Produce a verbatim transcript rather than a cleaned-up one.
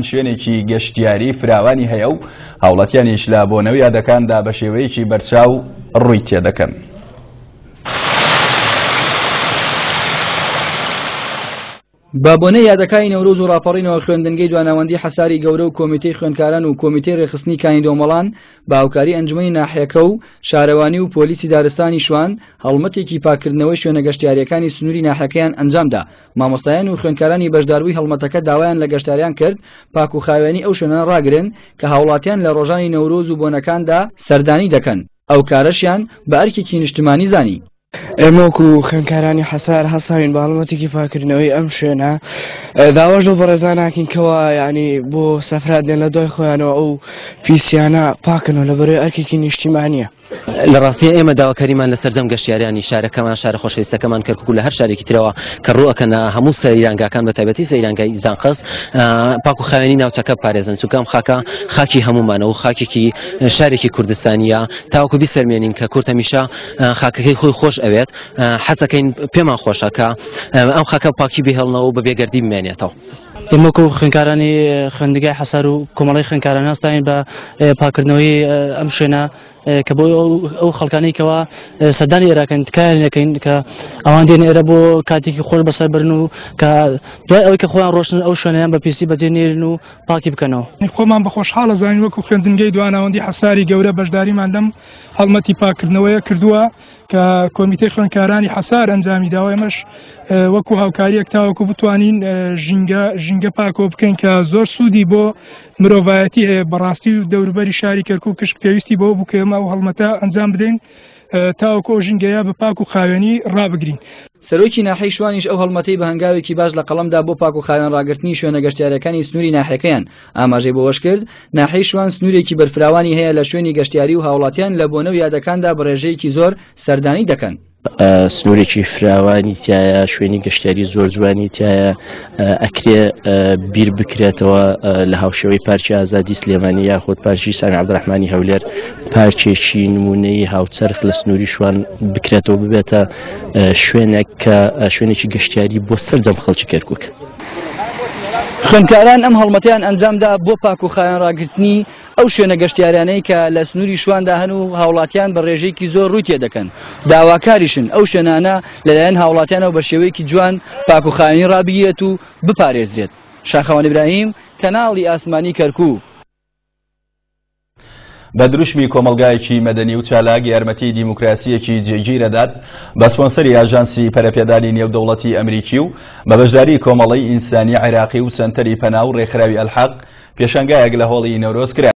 شوێنێکی گەشتیاری فراوانی هەیە و هاوڵاتیانیش لە بۆنە و یادەکاندا بە شێوەیەکی بەرچاو ڕووی تێدەکەن. بە بۆنەی یادەکانی نەورۆز و ڕاپەڕینەوە خوێندنگەی دواناوەندی حەساری گەورە و کۆمیتەی خوێندکاران و کۆمیتەی ڕێکخستنی کانی دۆمەڵان بە هاوکاری ئەنجومەنی ناحیەکە و شارەوانی و پۆلیسی دارستانی شوان هەڵمەتێکی پاکردنەوەی شوێنە گەشتیاریەکانی سنووری ناحیەکەیان ئەنجامدا. مامۆستایان و خوێندکارانی بەشداربووی هەڵمەتەکە داوایان لە گەشتیاریان کرد پاک و خاوێنی ئەو شوێنانە ڕاگرن کە هاوڵاتیان لە ڕۆژانی نەورۆز و بۆنەکاندا سەردانی دەکەن. ئەو کارەشیان بە ئەرکێکی نیشتمانی زانی. ئێمە وەکو خوێندکارانی حەسار هەستاوین بە هەڵمەتێکی پاکردنەوەی ئەم شوێنە، داواش لەو بەڕێزان ناکەین کەوا یعنی بۆ سەفرات دێن لە دوای خۆیانەوە ئەو پیسیانە پاکنەوە لەبەرەوەی ئەرکێکی نیشتیمانیە. لە ڕاستیە ئێمە داواکاریمان لە سەرجەم گەشتیاریانی شارەکەمان، شارە خۆشەویستەکەمان کەرکوک و لە هەر شارێکی ترەوە کە ڕووەکەنە هەموو سەیرانگاکان بە تایبەتی سەیرانگای زانقەس پاک و خاوێنی ناوچەکە بپارێزن، چونکە ئەم خاکە خاکی هەمومانە و خاکێکی شارێکی کوردستانیە تاوەکو بیسەلمێنین کە کورد هەمیشە خاکەکەی خۆی خۆش ئەوێت. حەزەکەین پێمان خۆشە کە ئەم خاکە پاکی بهێڵنەوە و بە بێگەردی بمێنێتەوە. ئێمە وەکو خوێندکارانی خوێندنگای حەسار و کۆمەڵەی خوێندکاران هەستاین بە پاکردنەوەی ئەم شوێنە کە بۆ ئەو خەڵکانەی کەوا سەردانی ئێراکەن تکایان دەکەین کە ئەوان دێن ئێرە بۆ کاتێکی خۆش بەسەر برن و کە دوای ئەوەی کە خۆیان ڕۆشتن ئەو شوێنەیان بە پیسی بەجێ نێرن و پاکی بکەنەوە. خۆمان بە خۆشحاڵە زانین وەکو خوێندنگەی دواناوەندی حەساری گەورە بەشداریمان لەم هەڵمەتی پاکردنەوەیە کردووە کە کۆمیتەی خوێندکارانی حەسار ئەنجامی داوە. ئێمەش وەکو هاوکاریەک تاوەکو بتوانین ژینگە ژینگە پاکۆ بکەین کە زۆر سوودی بۆ مرۆڤایەتی هەیە. بەڕاستی و دەوروبەری شاری کەرکوک کشک پێویستی بەوە بوو کە ئێمە ئەو هەڵمەتە ئەنجام بدەین تاوەکو ئەو ژینگەیە بە پاک و خاوێنی ڕابگرین. سەرۆکی ناحیەی شوانیش ئەو هەڵمەتەی بە هەنگاوێکی باش لە قەڵەمدا بۆ پاک و خاوێن ڕاگرتنی شوێنە گەشتیاریەکانی سنووری ناحیەکەیان. ئاماژەی بۆ ئەوەش کرد ناحیەی شوان سنوورێکی بەرفراوانی هەیە لە شوێنی گەشتیاری و هاوڵاتیان لە بۆنە و یادەکاندا بە ڕێژەیەکی زۆر سەردانی دەکەن. سنوورێکی فراوانی تایە، شوێنی گەشتیاری زۆر جوانی تایە، ئەکرێ بیر بکرێتەوە لە هاوشێوەی پارکی ئازادی سلێمانی یاخود پارکی سامی عەبدولڕەحمانی هەولێر پارکێکی نمونەی هاوچەرخ لە سنووری شوان بکرێتەوە، ببێتە شوێنێک کە شوێنێکی گەشتیاری بۆ سەرجەم خەڵکی کەرکوک. خوێندکاران ئەم هەڵمەتیان ئەنجامدا بۆ پاک و خاوێن ڕاگرتنی ئەو شوێنە گەشتیارانەی کە لە سنووری شواندا هەن و هاوڵاتیان بە ڕێژەیەکی زۆر ڕووی تێدەکەن. داواکاریشن ئەو شوێنانە لەلایەن هاوڵاتیانەوە بە شێوەیەکی جوان پاک و خاوێنی ڕابگیرێت و بپارێزرێت. شاخەوان ئیبراهیم، کەناڵی ئاسمانی کەرکوک. بە دروشمی کۆمەڵگایەکی مەدەنی و چالاک یارمەتی دیموکراسیەکی جێگیرەدات بە سپۆنسەری ئاژانسی پەرەپێدانی نێودەوڵەتی ئەمریکی و بە بەشداری کۆمەڵەی ئینسانی عێراقی و سەنتەری پەنا و ڕێکخراوی ئەلحەق پێشانگایەک لە هۆڵی نەورۆز کرا.